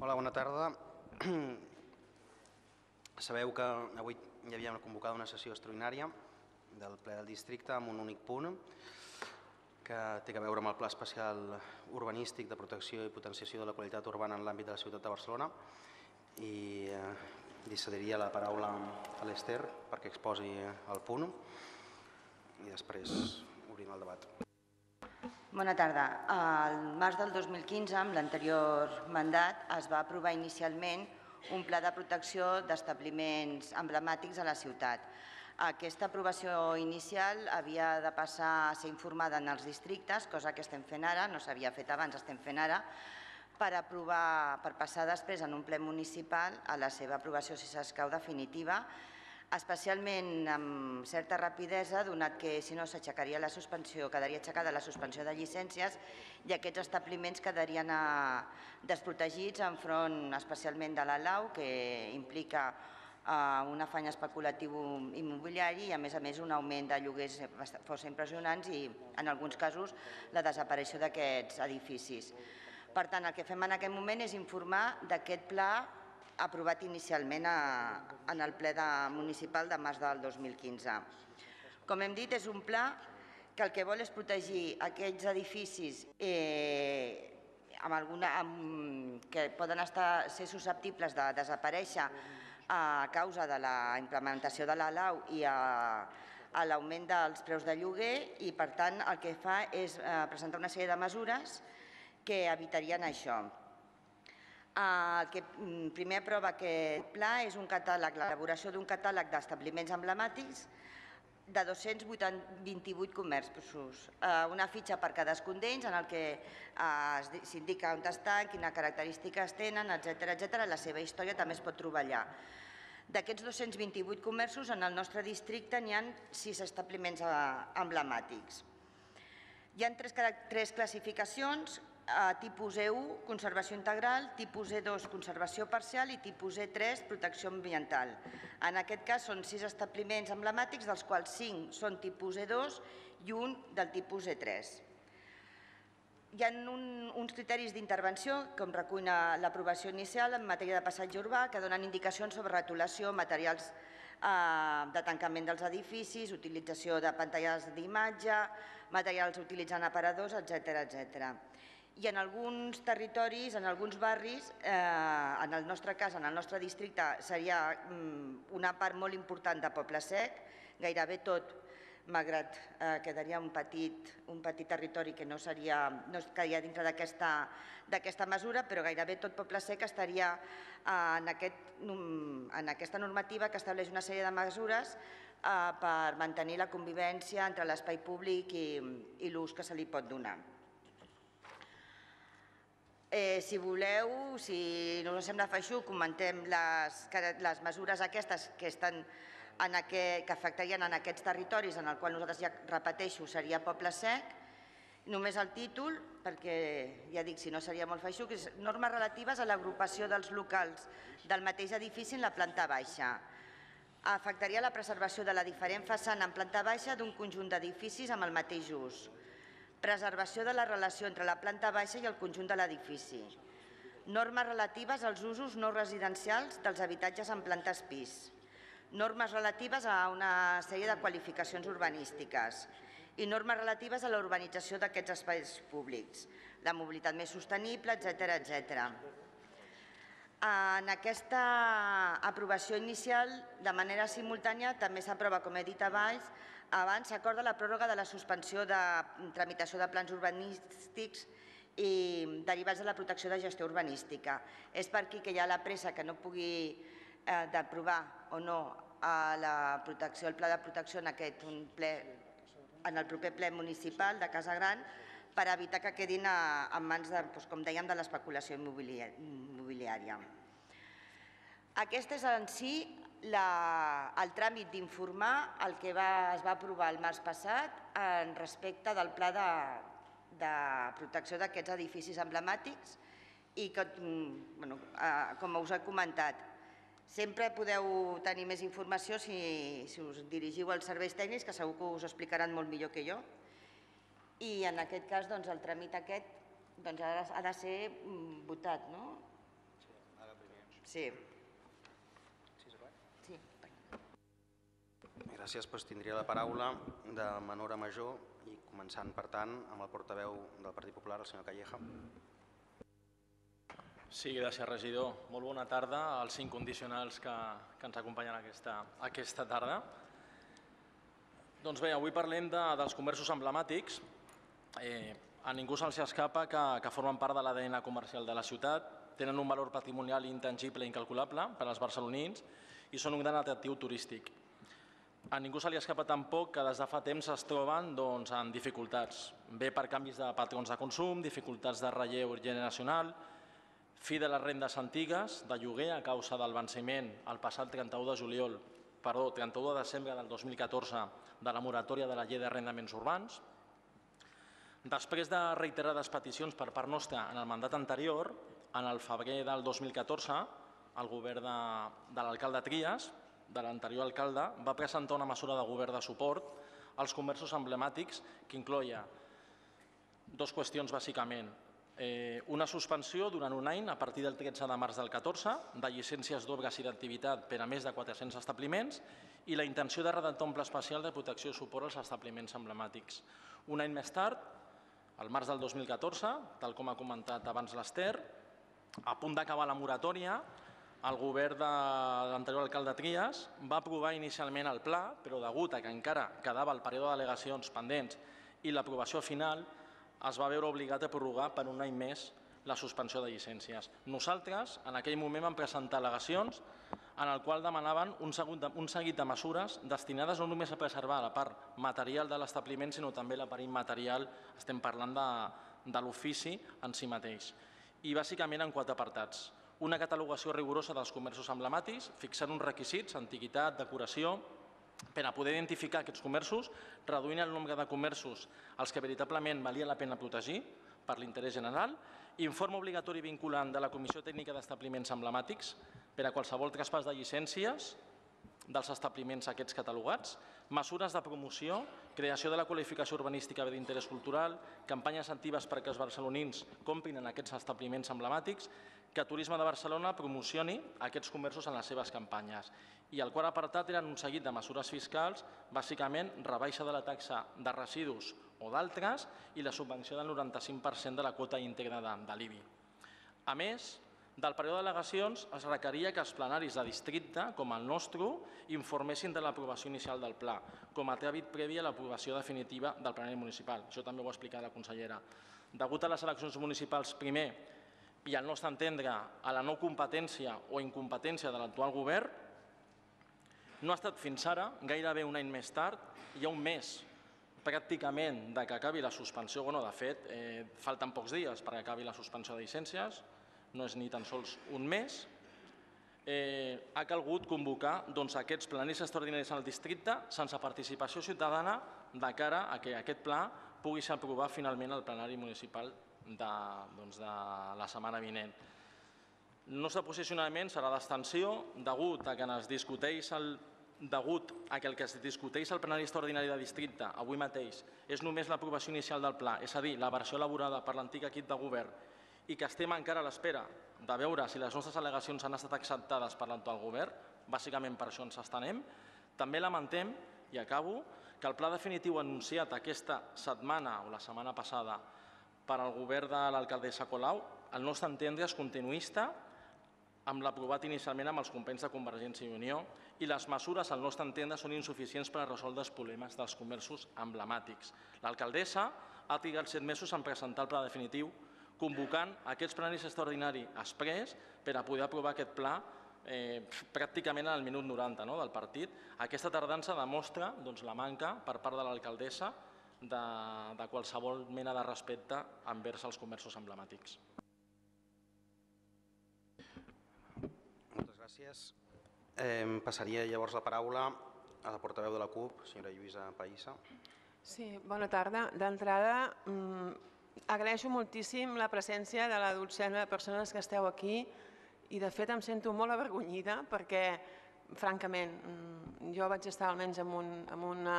Hola, bona tarda. Sabeu que avui hi havia convocada una sessió extraordinària del ple del districte amb un únic punt que té a veure amb el Pla Especial Urbanístic de Protecció i Potenciació de la Qualitat Urbana en l'àmbit de la ciutat de Barcelona, i li cediria la paraula a l'Ester perquè exposi el punt i després obrim el debat. Bona tarda. Al març del 2015, amb l'anterior mandat, es va aprovar inicialment un pla de protecció d'establiments emblemàtics a la ciutat. Aquesta aprovació inicial havia de passar a ser informada en els districtes, cosa que estem fent ara, no s'havia fet abans, estem fent ara, per passar després en un ple municipal a la seva aprovació, si s'escau, definitiva, especialment amb certa rapidesa, donat que si no s'aixecaria la suspensió, quedaria aixecada la suspensió de llicències i aquests establiments quedarien desprotegits enfront especialment de la lau, que implica un afany especulatiu immobiliari i a més un augment de lloguers força impressionants i en alguns casos la desaparició d'aquests edificis. Per tant, el que fem en aquest moment és informar d'aquest pla aprovat inicialment en el ple municipal de març del 2015. Com hem dit, és un pla que el que vol és protegir aquells edificis que poden ser susceptibles de desaparèixer a causa de la implementació de la lau i a l'augment dels preus de lloguer i, per tant, el que fa és presentar una sèrie de mesures que evitarien això. El que primer aprova aquest pla és l'elaboració d'un catàleg d'establiments emblemàtics de 228 comerços, una fitxa per cadascun d'ells en què s'indica on estan, quines característiques tenen, etcètera. La seva història també es pot trobar allà. D'aquests 228 comerços, en el nostre districte n'hi ha 6 establiments emblemàtics. Hi ha tres classificacions: tipus E1, conservació integral, tipus E2, conservació parcial i tipus E3, protecció ambiental. En aquest cas són 6 establiments emblemàtics, dels quals 5 són tipus E2 i un del tipus E3. Hi ha uns criteris d'intervenció, com recull l'aprovació inicial en matèria de passatge urbà, que donen indicacions sobre retolació, materials de tancament dels edificis, utilització de pantalles d'imatge, materials utilitzant aparadors, etcètera. I en alguns territoris, en alguns barris, en el nostre cas, en el nostre districte, seria una part molt important de Poble Sec, gairebé tot, malgrat que quedaria un petit territori que no quedaria dintre d'aquesta mesura, però gairebé tot Poble Sec estaria en aquesta normativa que estableix una sèrie de mesures per mantenir la convivència entre l'espai públic i l'ús que se li pot donar. Si voleu, si no us sembla feixuc, comentem les mesures aquestes que afectarien en aquests territoris, en el qual nosaltres, ja repeteixo, seria Poble Sec. Només el títol, perquè ja dic, si no seria molt feixuc, és normes relatives a l'agrupació dels locals del mateix edifici en la planta baixa. Afectaria la preservació de la diferent façana en planta baixa d'un conjunt d'edificis amb el mateix ús. Preservació de la relació entre la planta baixa i el conjunt de l'edifici. Normes relatives als usos no residencials dels habitatges en plantes pis. Normes relatives a una sèrie de qualificacions urbanístiques i normes relatives a la urbanització d'aquests espais públics, la mobilitat més sostenible, etcètera. En aquesta aprovació inicial, de manera simultània, també s'aprova, com he dit abans, s'acorda la pròrroga de la suspensió de tramitació de plans urbanístics i derivats de la protecció de gestió urbanística. És per aquí que hi ha la pressa que no pugui d'aprovar o no el pla de protecció en el proper ple municipal de Casa Gran, per evitar que quedin en mans, com dèiem, de l'especulació immobiliària. Aquest és en si el tràmit d'informar el que es va aprovar el març passat respecte del pla de protecció d'aquests edificis emblemàtics i que, com us he comentat, sempre podeu tenir més informació si us dirigiu als serveis tècnics, que segur que us ho explicaran molt millor que jo. I en aquest cas el tràmit aquest ha de ser votat, no? Sí. Gràcies. Tindria la paraula de menor a major i començant, per tant, amb el portaveu del Partit Popular, el senyor Calleja. Sí, gràcies, regidor. Molt bona tarda als incondicionals que ens acompanyen aquesta tarda. Doncs bé, avui parlem dels comerços emblemàtics. A ningú se'ls escapa que formen part de l'ADN comercial de la ciutat, tenen un valor patrimonial intangible i incalculable per als barcelonins i són un gran atractiu turístic. A ningú se li escapa tampoc que des de fa temps es troben en dificultats, bé per canvis de patrons de consum, dificultats de relleu generacional, fi de les rendes antigues de lloguer a causa del venciment el passat 31 de desembre del 2014 de la moratòria de la llei d'arrendaments urbans. Després de reiterades peticions per part nostra en el mandat anterior, en el febrer del 2014, el govern de l'alcalde Trias, de l'anterior alcalde, va presentar una mesura de govern de suport als comerços emblemàtics que incloïa dues qüestions bàsicament. Una suspensió durant un any a partir del 13 de març del 14 de llicències d'obres i d'activitat per a més de 400 establiments i la intenció de redactar un pla especial de protecció i suport als establiments emblemàtics. Un any més tard, al març del 2014, tal com ha comentat abans l'Ester, a punt d'acabar la moratòria, el govern de l'anterior alcalde Trias va aprovar inicialment el pla, però degut a que encara quedava el període d'al·legacions pendents i l'aprovació final, es va veure obligat a prorrogar per un any més la suspensió de llicències. Nosaltres, en aquell moment, vam presentar al·legacions en el qual demanaven un seguit de mesures destinades no només a preservar la part material de l'establiment, sinó també la part immaterial, estem parlant de l'ofici en si mateix. I bàsicament en 4 apartats. Una catalogació rigorosa dels comerços emblemàtics, fixant uns requisits, antiguitat, decoració, per a poder identificar aquests comerços, reduint el nombre de comerços als que veritablement valia la pena protegir per l'interès general, informe obligatori vinculant de la Comissió Tècnica d'Establiments Emblemàtics per a qualsevol traspàs de llicències dels establiments aquests catalogats, mesures de promoció, creació de la qualificació urbanística d'interès cultural, campanyes actives perquè els barcelonins comprin en aquests establiments emblemàtics, que Turisme de Barcelona promocioni aquests comerços en les seves campanyes. I el quart apartat eren un seguit de mesures fiscals, bàsicament rebaixa de la taxa de residus o d'altres i la subvenció del 95% de la quota íntegra de l'IBI. A més, del període d'al·legacions es requeria que els plenaris de districte, com el nostre, informessin de l'aprovació inicial del pla, com a tràmit previ a l'aprovació definitiva del plenari municipal. Això també ho ha explicat la consellera. Degut a les eleccions municipals primer i al nostre entendre a la no competència o incompetència de l'actual govern, no ha estat fins ara, gairebé un any més tard, hi ha un mes pràcticament que acabi la suspensió, de fet, falten pocs dies perquè acabi la suspensió de llicències, no és ni tan sols un mes, ha calgut convocar aquests plenaris extraordinaris en el districte sense participació ciutadana de cara a que aquest pla pugui ser aprovat finalment al plenari municipal de la setmana vinent. El nostre posicionament serà d'abstenció degut a que el que es discuteix al plenari extraordinari de districte avui mateix és només l'aprovació inicial del pla, és a dir, la versió elaborada per l'antic equip de govern, i que estem encara a l'espera de veure si les nostres al·legacions han estat acceptades per l'actual govern, bàsicament per això ens abstenem. També lamentem, i acabo, que el pla definitiu anunciat aquesta setmana o la setmana passada per al govern de l'alcaldessa Colau, al nostre entendre és continuista amb l'aprovat inicialment amb els companys de Convergència i Unió i les mesures, al nostre entendre, són insuficients per a resoldre els problemes dels comerços emblemàtics. L'alcaldessa ha trigat 7 mesos en presentar el pla definitiu, convocant aquests plenaris extraordinaris exprés per a poder aprovar aquest pla pràcticament al minut 90 del partit. Aquesta tardança demostra la manca per part de l'alcaldessa de qualsevol mena de respecte envers els comerços emblemàtics. Moltes gràcies. Passaria llavors la paraula a la portaveu de la CUP, senyora Lluïsa Pahissa. Sí, bona tarda. D'entrada, agraeixo moltíssim la presència de la dotzena de persones que esteu aquí i de fet em sento molt avergonyida perquè francament, jo vaig estar almenys en una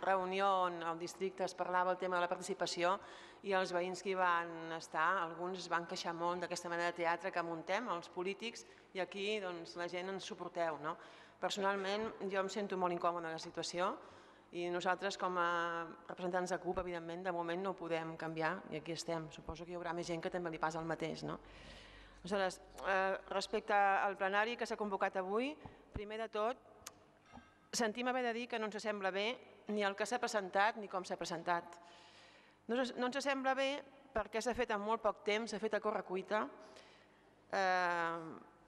reunió on al districte es parlava el tema de la participació i els veïns que hi van estar, alguns es van queixar molt d'aquesta mena de teatre que muntem, els polítics, i aquí la gent ens suporteu. Personalment, jo em sento molt incòmode en la situació i nosaltres, com a representants de CUP, evidentment, de moment no ho podem canviar i aquí estem. Suposo que hi haurà més gent que també li passa el mateix. Aleshores, respecte al plenari que s'ha convocat avui, primer de tot, sentim haver de dir que no ens sembla bé ni el que s'ha presentat ni com s'ha presentat. No ens sembla bé perquè s'ha fet en molt poc temps, s'ha fet a correcuita,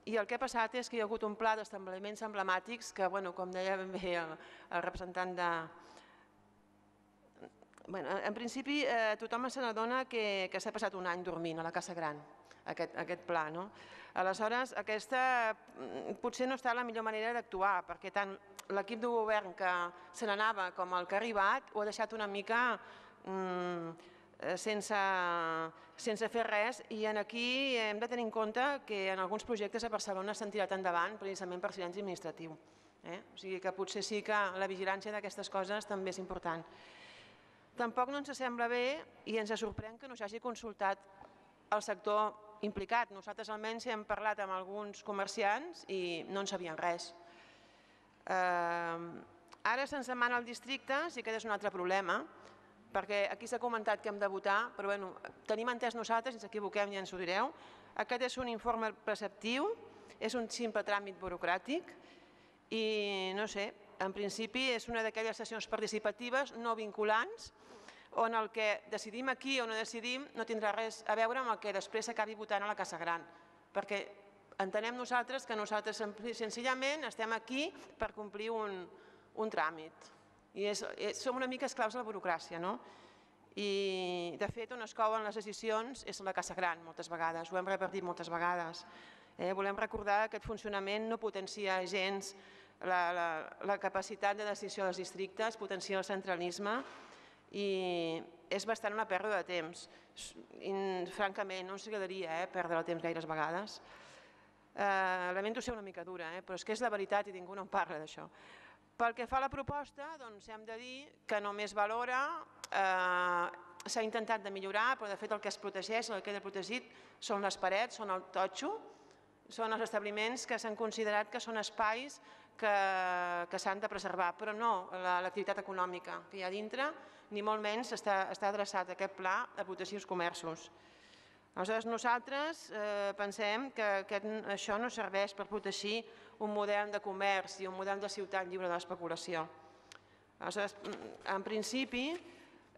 i el que ha passat és que hi ha hagut un pla d'establiments emblemàtics que, com deia ben bé el representant de... En principi, tothom se n'adona que s'ha passat un any dormint a la Casa Gran, aquest pla. Aleshores, aquesta potser no està la millor manera d'actuar, perquè tant l'equip de govern que se n'anava com el que ha arribat ho ha deixat una mica sense fer res, i aquí hem de tenir en compte que en alguns projectes a Barcelona s'han tirat endavant precisament per silenci administratiu. O sigui que potser sí que la vigilància d'aquestes coses també és important. Tampoc no ens sembla bé i ens sorprèn que no s'hagi consultat el sector implicat. Nosaltres almenys hem parlat amb alguns comerciants i no en sabien res. Ara se'ns demana al districte, sí que és un altre problema, perquè aquí s'ha comentat que hem de votar, però tenim entès nosaltres, si ens equivoquem ja ens ho direu, aquest és un informe preceptiu, és un simple tràmit burocràtic i no sé, en principi és una d'aquelles sessions participatives no vinculants on el que decidim aquí o no decidim no tindrà res a veure amb el que després s'acabi votant a la Casa Gran, perquè entenem nosaltres que nosaltres senzillament estem aquí per complir un tràmit. I som una mica esclaus de la burocràcia, no? I de fet on es couen les decisions és la Casa Gran moltes vegades, ho hem repartit moltes vegades. Volem recordar que aquest funcionament no potencia gens la capacitat de decisió dels districtes, potencia el centralisme i és bastant una pèrdua de temps. Francament, no ens agradaria perdre el temps gaires vegades. Lamento ser una mica dura, però és que és la veritat i ningú no en parla d'això. Pel que fa a la proposta, doncs hem de dir que només valora, s'ha intentat de millorar, però de fet el que es protegeix, el que queda protegit, són les parets, són el totxo, són els establiments que s'han considerat que són espais que s'han de preservar, però no l'activitat econòmica que hi ha dintre, ni molt menys està adreçat a aquest pla de protegir els comerços. Aleshores, nosaltres pensem que això no serveix per protegir un model de comerç i un model de ciutat lliure de l'especulació. Aleshores, en principi,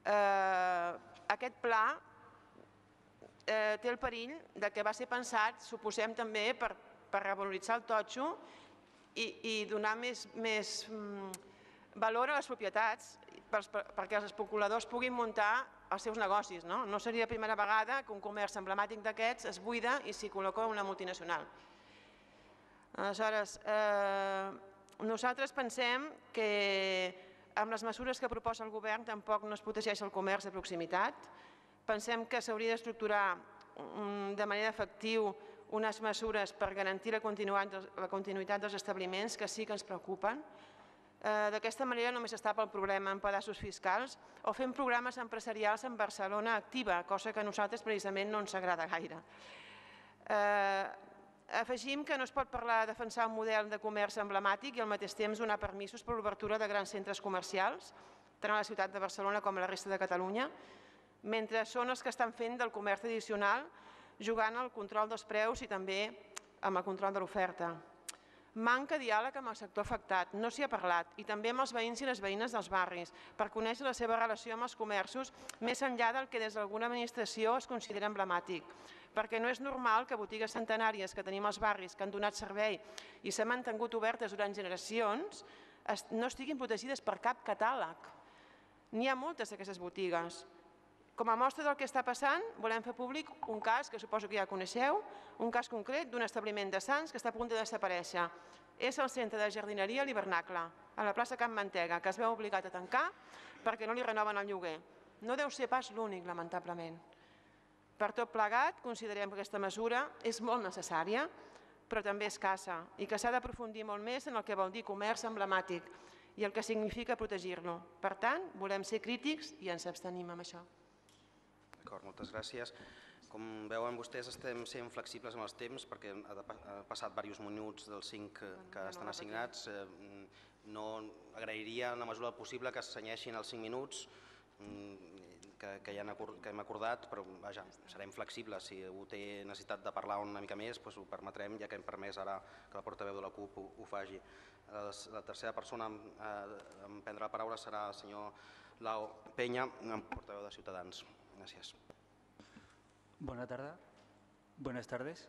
aquest pla té el perill que va ser pensat, suposem també, per revaloritzar el totxo i donar més valor a les propietats perquè els especuladors puguin muntar els seus negocis. No seria la primera vegada que un comerç emblemàtic d'aquests es buida i s'hi col·loca una multinacional. Aleshores, nosaltres pensem que amb les mesures que proposa el govern tampoc no es protegeix el comerç de proximitat. Pensem que s'hauria d'estructurar de manera efectiva unes mesures per garantir la continuïtat dels establiments que sí que ens preocupen. D'aquesta manera només es tapa el problema en pedaços fiscals o fent programes empresarials en Barcelona activa, cosa que a nosaltres precisament no ens agrada gaire. Afegim que no es pot parlar de defensar un model de comerç emblemàtic i al mateix temps donar permisos per l'obertura de grans centres comercials, tant a la ciutat de Barcelona com a la resta de Catalunya, mentre són els que estan fent del comerç tradicional jugant al control dels preus i també amb el control de l'oferta. Manca diàleg amb el sector afectat, no s'hi ha parlat, i també amb els veïns i les veïnes dels barris, per conèixer la seva relació amb els comerços més enllà del que des d'alguna administració es considera emblemàtic, perquè no és normal que botigues centenàries que tenim als barris que han donat servei i s'han mantingut obertes durant generacions no estiguin protegides per cap catàleg. N'hi ha moltes d'aquestes botigues. Com a mostra del que està passant, volem fer públic un cas que suposo que ja coneixeu, un cas concret d'un establiment de Sants que està a punt de desaparèixer. És el centre de jardineria l'Hivernacle, a la plaça Can Mantega, que es veu obligat a tancar perquè no li renoven el lloguer. No deu ser pas l'únic, lamentablement. Per tot plegat, considerem que aquesta mesura és molt necessària però també escassa, i que s'ha d'aprofundir molt més en el que vol dir comerç emblemàtic i el que significa protegir-lo. Per tant, volem ser crítics i ens abstenim amb això. D'acord, moltes gràcies. Com veuen vostès, estem sent flexibles amb els temps perquè ha passat diversos minuts dels 5 que estan assignats. No agrairia en la mesura del possible que s'assenyeixin els 5 minuts que hem acordat, però vaja, serem flexibles. Si algú té necessitat de parlar una mica més, ho permetrem, ja que hem permès ara que la portaveu de la CUP ho faci. La tercera persona en prendre la paraula serà el senyor Lau Peña, portaveu de Ciutadans. Gràcies. Buenas tardes.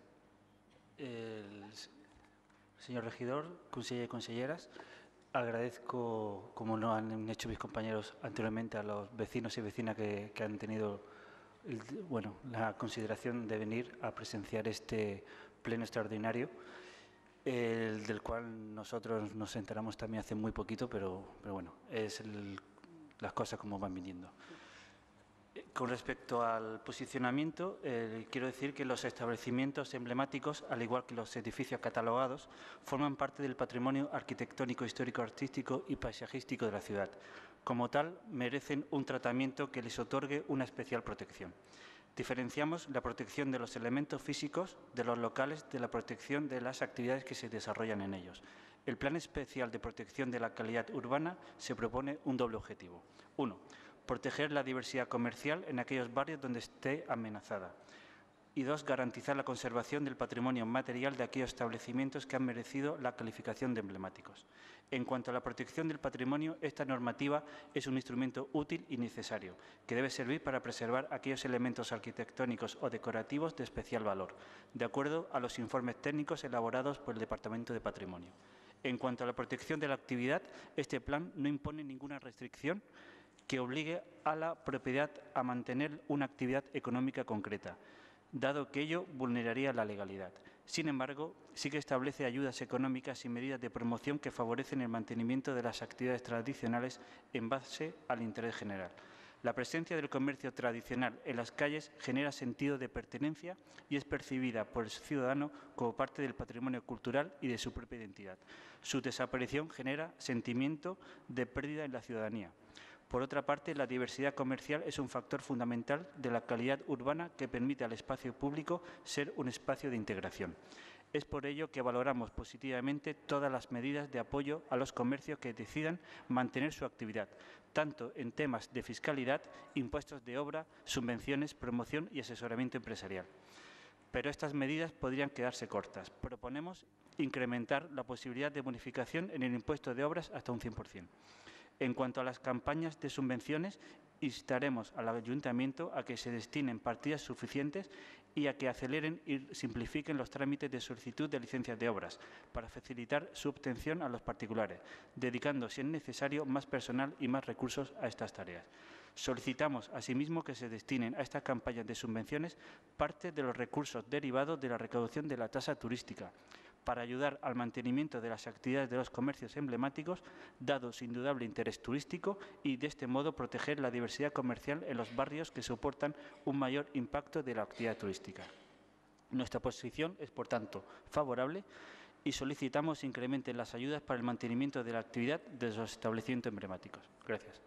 Señor regidor, conseller y conselleras, agradezco, como lo han hecho mis compañeros anteriormente, a los vecinos y vecinas que han tenido la consideración de venir a presenciar este pleno extraordinario, del cual nosotros nos enteramos también hace muy poquito, pero bueno, es las cosas como van viniendo. Con respecto al posicionamiento, quiero decir que los establecimientos emblemáticos, al igual que los edificios catalogados, forman parte del patrimonio arquitectónico, histórico, artístico y paisajístico de la ciudad. Como tal, merecen un tratamiento que les otorgue una especial protección. Diferenciamos la protección de los elementos físicos de los locales de la protección de las actividades que se desarrollan en ellos. El Plan Especial de Protección de la Calidad Urbana se propone un doble objetivo. 1. Proteger la diversidad comercial en aquellos barrios donde esté amenazada. Y 2. Garantizar la conservación del patrimonio material de aquellos establecimientos que han merecido la calificación de emblemáticos. En cuanto a la protección del patrimonio, esta normativa es un instrumento útil y necesario, que debe servir para preservar aquellos elementos arquitectónicos o decorativos de especial valor, de acuerdo a los informes técnicos elaborados por el Departamento de Patrimonio. En cuanto a la protección de la actividad, este plan no impone ninguna restricción que obligue a la propiedad a mantener una actividad económica concreta, dado que ello vulneraría la legalidad. Sin embargo, sí que establece ayudas económicas y medidas de promoción que favorecen el mantenimiento de las actividades tradicionales en base al interés general. La presencia del comercio tradicional en las calles genera sentido de pertenencia y es percibida por el ciudadano como parte del patrimonio cultural y de su propia identidad. Su desaparición genera sentimiento de pérdida en la ciudadanía. Por otra parte, la diversidad comercial es un factor fundamental de la calidad urbana que permite al espacio público ser un espacio de integración. Es por ello que valoramos positivamente todas las medidas de apoyo a los comercios que decidan mantener su actividad, tanto en temas de fiscalidad, impuestos de obra, subvenciones, promoción y asesoramiento empresarial. Pero estas medidas podrían quedarse cortas. Proponemos incrementar la posibilidad de bonificación en el impuesto de obras hasta un 100%. En cuanto a las campañas de subvenciones, instaremos al Ayuntamiento a que se destinen partidas suficientes y a que aceleren y simplifiquen los trámites de solicitud de licencias de obras para facilitar su obtención a los particulares, dedicando, si es necesario, más personal y más recursos a estas tareas. Solicitamos, asimismo, que se destinen a estas campañas de subvenciones parte de los recursos derivados de la recaudación de la tasa turística, para ayudar al mantenimiento de las actividades de los comercios emblemáticos, dado su indudable interés turístico, y de este modo proteger la diversidad comercial en los barrios que soportan un mayor impacto de la actividad turística. Nuestra posición es, por tanto, favorable y solicitamos incrementen las ayudas para el mantenimiento de la actividad de los establecimientos emblemáticos. Gracias.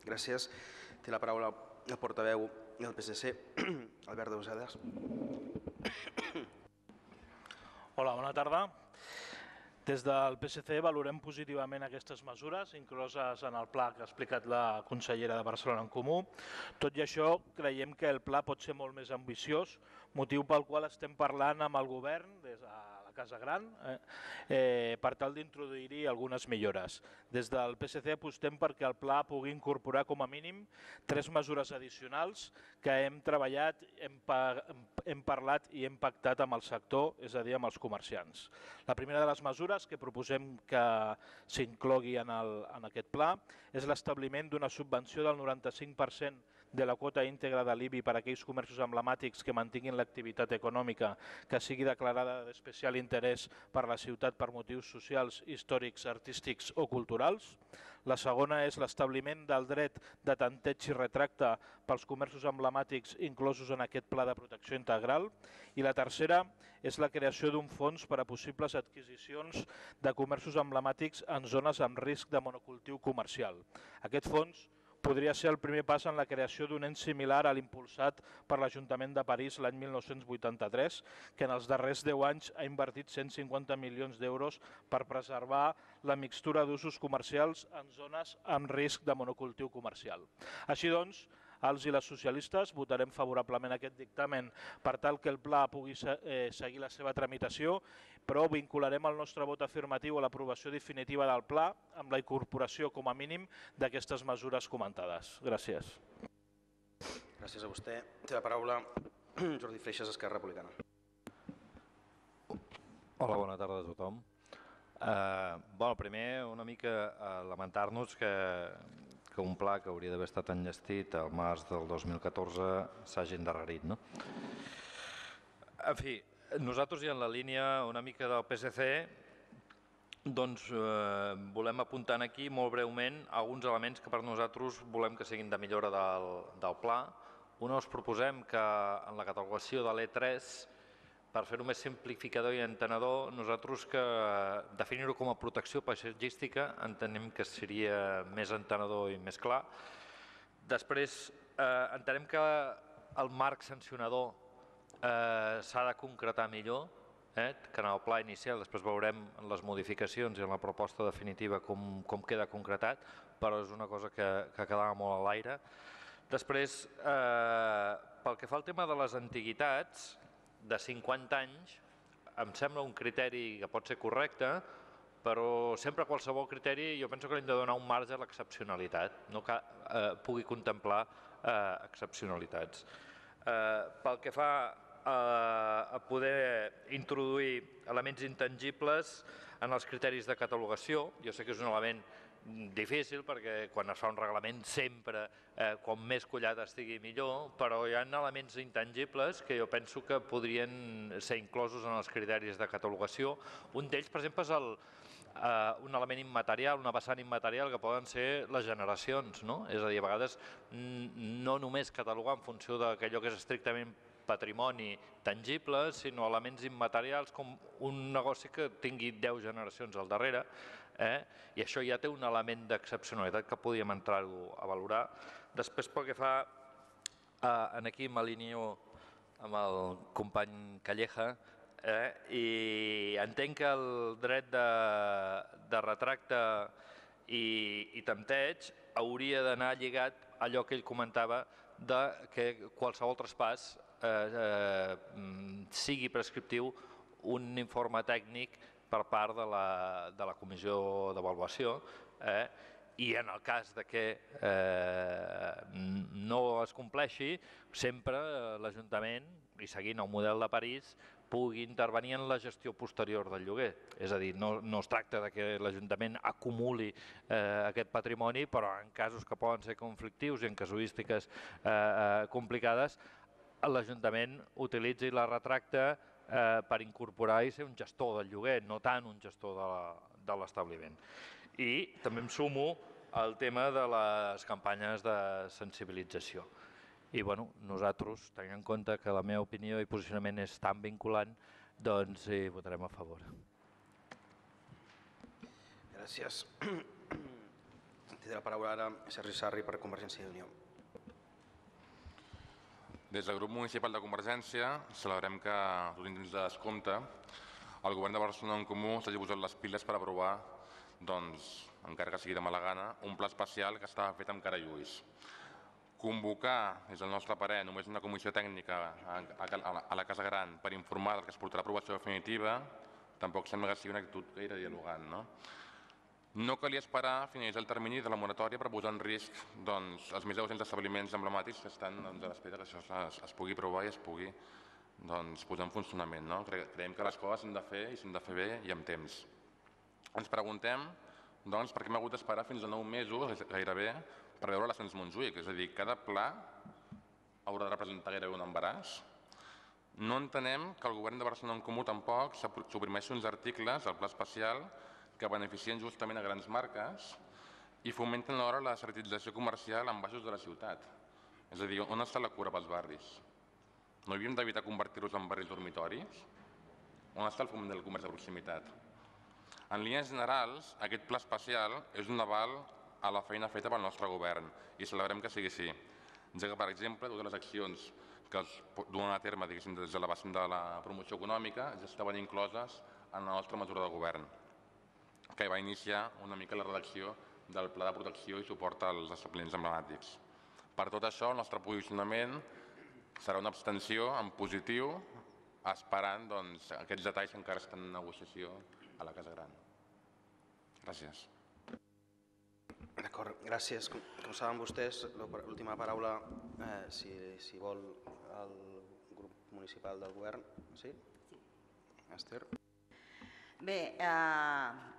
Gràcies. Té la paraula el portaveu del PSC, Albert Deusedas. Hola, bona tarda. Des del PSC valorem positivament aquestes mesures incloses en el pla que ha explicat la consellera de Barcelona en Comú. Tot i això, creiem que el pla pot ser molt més ambiciós, motiu pel qual estem parlant amb el govern des de la Casa Gran per tal d'introduir-hi algunes millores. Des del PSC apostem perquè el pla pugui incorporar com a mínim 3 mesures addicionals que hem treballat, hem parlat i hem pactat amb el sector, és a dir, amb els comerciants. La primera de les mesures que proposem que s'inclogui en aquest pla és l'establiment d'una subvenció del 95% de la quota íntegra de l'IBI per a aquells comerços emblemàtics que mantinguin l'activitat econòmica que sigui declarada d'especial interès per la ciutat per motius socials, històrics, artístics o culturals. La segona és l'establiment del dret de tanteig i retracte pels comerços emblemàtics inclosos en aquest pla de protecció integral. I la tercera és la creació d'un fons per a possibles adquisicions de comerços emblemàtics en zones amb risc de monocultiu comercial. Aquest fons podria ser el primer pas en la creació d'un ens similar a l'impulsat per l'Ajuntament de París l'any 1983, que en els darrers 10 anys ha invertit 150 milions d'euros per preservar la mixtura d'usos comercials en zones amb risc de monocultiu comercial. Així doncs, els i les socialistes votarem favorablement aquest dictamen per tal que el pla pugui seguir la seva tramitació, però vincularem el nostre vot afirmatiu a l'aprovació definitiva del pla amb la incorporació com a mínim d'aquestes mesures comentades. Gràcies. Gràcies a vostè. Té la paraula Jordi Freixas, Esquerra Republicana. Hola, bona tarda a tothom. Primer, una mica lamentar-nos que un pla que hauria d'haver estat enllestit al març del 2014 s'hagi endarrerit. En fi, nosaltres i en la línia una mica del PSC volem apuntar aquí molt breument alguns elements que per nosaltres volem que siguin de millora del pla. Un, us proposem que en la catalogació de l'E3, per fer-ho més simplificador i entenedor, nosaltres que definir-ho com a protecció paisatgística entenem que seria més entenedor i més clar. Després, entenem que el marc sancionador s'ha de concretar millor, que en el pla inicial, després veurem en les modificacions i en la proposta definitiva com queda concretat, però és una cosa que quedava molt a l'aire. Després, pel que fa al tema de les antiguitats, de 50 anys, em sembla un criteri que pot ser correcte, però sempre qualsevol criteri jo penso que hem de donar un marge a l'excepcionalitat, no que pugui contemplar excepcionalitats. Pel que fa a poder introduir elements intangibles en els criteris de catalogació, jo sé que és un element difícil perquè quan es fa un reglament sempre com més collat estigui millor, però hi ha elements intangibles que jo penso que podrien ser inclosos en els criteris de catalogació. Un d'ells, per exemple, és un element immaterial, una vessant immaterial que poden ser les generacions. És a dir, a vegades no només catalogar en funció d'allò que és estrictament patrimoni tangible, sinó elements immaterials com un negoci que tingui 10 generacions al darrere, i això ja té un element d'excepcionalitat que podíem entrar-ho a valorar. Després, pel que fa, aquí m'alineo amb el company Calleja, i entenc que el dret de retracte i tempteig hauria d'anar lligat a allò que ell comentava que qualsevol traspàs sigui prescriptiu un informe tècnic per part de la comissió d'avaluació, i en el cas que no es compleixi, sempre l'Ajuntament, i seguint el model de París, pugui intervenir en la gestió posterior del lloguer. És a dir, no es tracta que l'Ajuntament acumuli aquest patrimoni, però en casos que poden ser conflictius i en casuístiques complicades, l'Ajuntament utilitzi la retracta per incorporar i ser un gestor del lloguer, no tant un gestor de l'establiment. I també em sumo al tema de les campanyes de sensibilització. I nosaltres, tenint en compte que la meva opinió i posicionament és tan vinculant, doncs hi votarem a favor. Gràcies. Té la paraula ara Sergi Sarri per Convergència i Unió. Des del grup municipal de Convergència celebrem que, dins de descompte, el govern de Barcelona en Comú s'hagi posat les piles per aprovar, encara que sigui de mala gana, un pla especial que estava fet amb cara i ulls. Convocar, des del nostre parer, només una comissió tècnica a la Casa Gran per informar del que es portarà a aprovació definitiva, tampoc sembla que sigui una actitud gaire dialogant. No calia esperar a finalitzar el termini de la moratòria per posar en risc els més de 200 establiments emblemàtics que estan a l'espera que això es pugui aprovar i es pugui posar en funcionament. Creiem que les coses s'han de fer i s'han de fer bé i amb temps. Ens preguntem per què hem hagut d'esperar fins a 9 mesos, gairebé, per veure l'ascens Montjuïc. És a dir, cada pla haurà de representar gairebé un embaràs. No entenem que el govern de Barcelona en Comú tampoc suprimeixi uns articles del pla especial que beneficien justament a grans marques i fomenten alhora la securitització comercial en baixos de la ciutat. És a dir, on està la cura pels barris? No havíem d'evitar convertir-los en barris dormitoris? On està el foment del comerç de proximitat? En línies generals, aquest pla especial és un aval a la feina feta pel nostre govern i celebrem que sigui així, ja que, per exemple, totes les accions que es duen a terme des de la vessant de la promoció econòmica ja estaven incloses en la nostra mesura de govern, que va iniciar una mica la redacció del Pla de Protecció i Suport als Establiments Emblemàtics. Per tot això, el nostre posicionament serà una abstenció en positiu, esperant aquests detalls que encara estan en negociació a la Casa Gran. Gràcies. D'acord, gràcies. Com saben vostès, l'última paraula, si vol, el grup municipal del govern. Sí? Esther? Bé,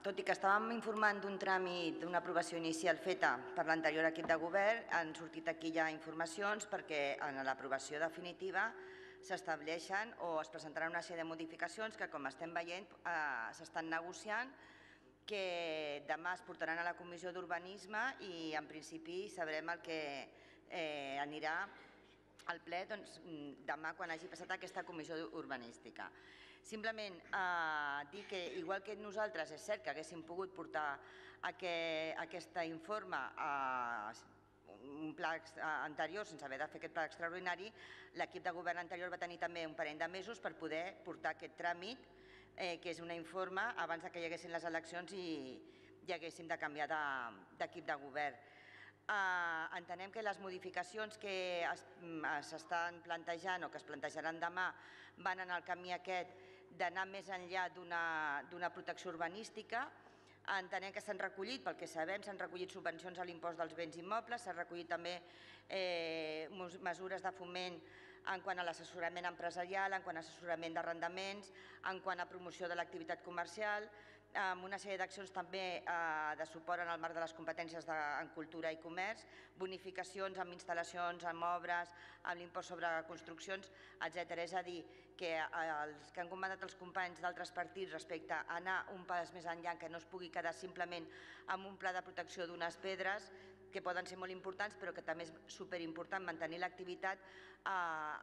tot i que estàvem informant d'un tràmit, d'una aprovació inicial feta per l'anterior equip de govern, han sortit aquí ja informacions perquè en l'aprovació definitiva s'estableixen o es presentaran una sèrie de modificacions que, com estem veient, s'estan negociant, que demà es portaran a la Comissió d'Urbanisme i en principi sabrem el que anirà al ple demà quan hagi passat aquesta comissió urbanística. Simplement dir que, igual que nosaltres, és cert que haguéssim pogut portar aquest informe a un pla anterior sense haver de fer aquest pla extraordinari, l'equip de govern anterior va tenir també un parell de mesos per poder portar aquest tràmit, que és un informe, abans que hi haguessin les eleccions i haguéssim de canviar d'equip de govern. Entenem que les modificacions que s'estan plantejant o que es plantejaran demà van en el camí aquest d'anar més enllà d'una protecció urbanística. Entenem que s'han recollit, pel que sabem, s'han recollit subvencions a l'impost dels béns immobles, s'han recollit també mesures de foment en quant a l'assessorament empresarial, en quant a assessorament d'arrendaments, en quant a promoció de l'activitat comercial, amb una sèrie d'accions també de suport en el marc de les competències en cultura i comerç, bonificacions amb instal·lacions, amb obres, amb l'impost sobre construccions, etc. És a dir, que els que han comentat els companys d'altres partits respecte a anar un pas més enllà, que no es pugui quedar simplement amb un pla de protecció d'unes pedres, que poden ser molt importants, però que també és superimportant mantenir l'activitat,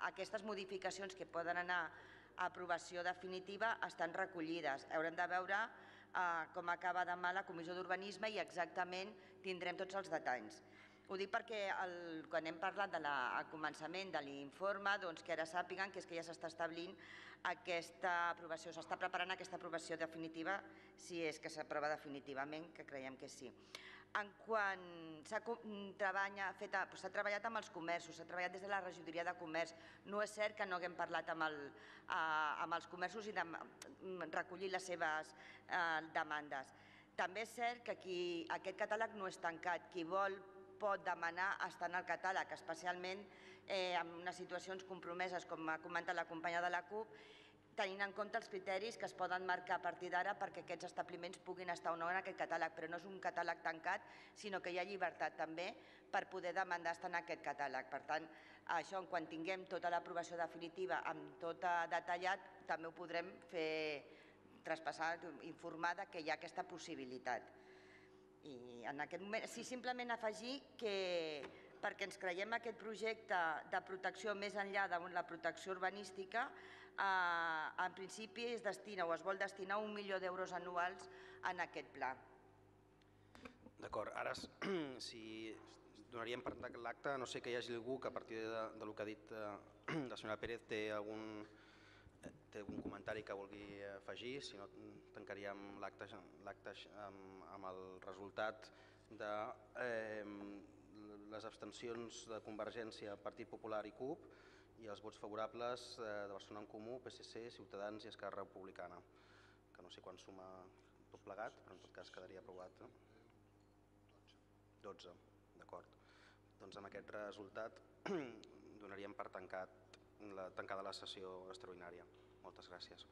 aquestes modificacions que poden anar a aprovació definitiva estan recollides. Haurem de veure com acaba demà la Comissió d'Urbanisme i exactament tindrem tots els detalls. Ho dic perquè quan hem parlat al començament de l'informe, que ara sàpiguen que és que ja s'està establint aquesta aprovació, s'està preparant aquesta aprovació definitiva, si és que s'aprova definitivament, que creiem que sí. En quant s'ha treballat amb els comerços, s'ha treballat des de la regidoria de comerç, no és cert que no haguem parlat amb els comerços i recollir les seves demandes. També és cert que aquest catàleg no és tancat, qui vol pot demanar estar en el catàleg, especialment en unes situacions compromeses, com ha comentat la companya de la CUP, tenint en compte els criteris que es poden marcar a partir d'ara perquè aquests establiments puguin estar o no en aquest catàleg, però no és un catàleg tancat, sinó que hi ha llibertat també per poder demandar estar en aquest catàleg. Per tant, això, quan tinguem tota l'aprovació definitiva amb tot detallat, també ho podrem fer traspassar, informar que hi ha aquesta possibilitat. I en aquest moment, sí, simplement afegir que perquè ens creiem aquest projecte de protecció més enllà de la protecció urbanística, en principi es destina o es vol destinar 1 milió d'euros anuals en aquest pla. D'acord, ara si donaríem per tancat l'acte, no sé que hi hagi algú que a partir del que ha dit la senyora Pérez té algun comentari que vulgui afegir, si no tancaríem l'acte amb el resultat de les abstencions de Convergència, Partit Popular i CUP i els vots favorables de Barcelona en Comú, PSC, Ciutadans i Esquerra Republicana, que no sé quan suma tot plegat, però en tot cas quedaria aprovat. 12, d'acord. Doncs amb aquest resultat donaríem per tancada la sessió extraordinària. Moltes gràcies.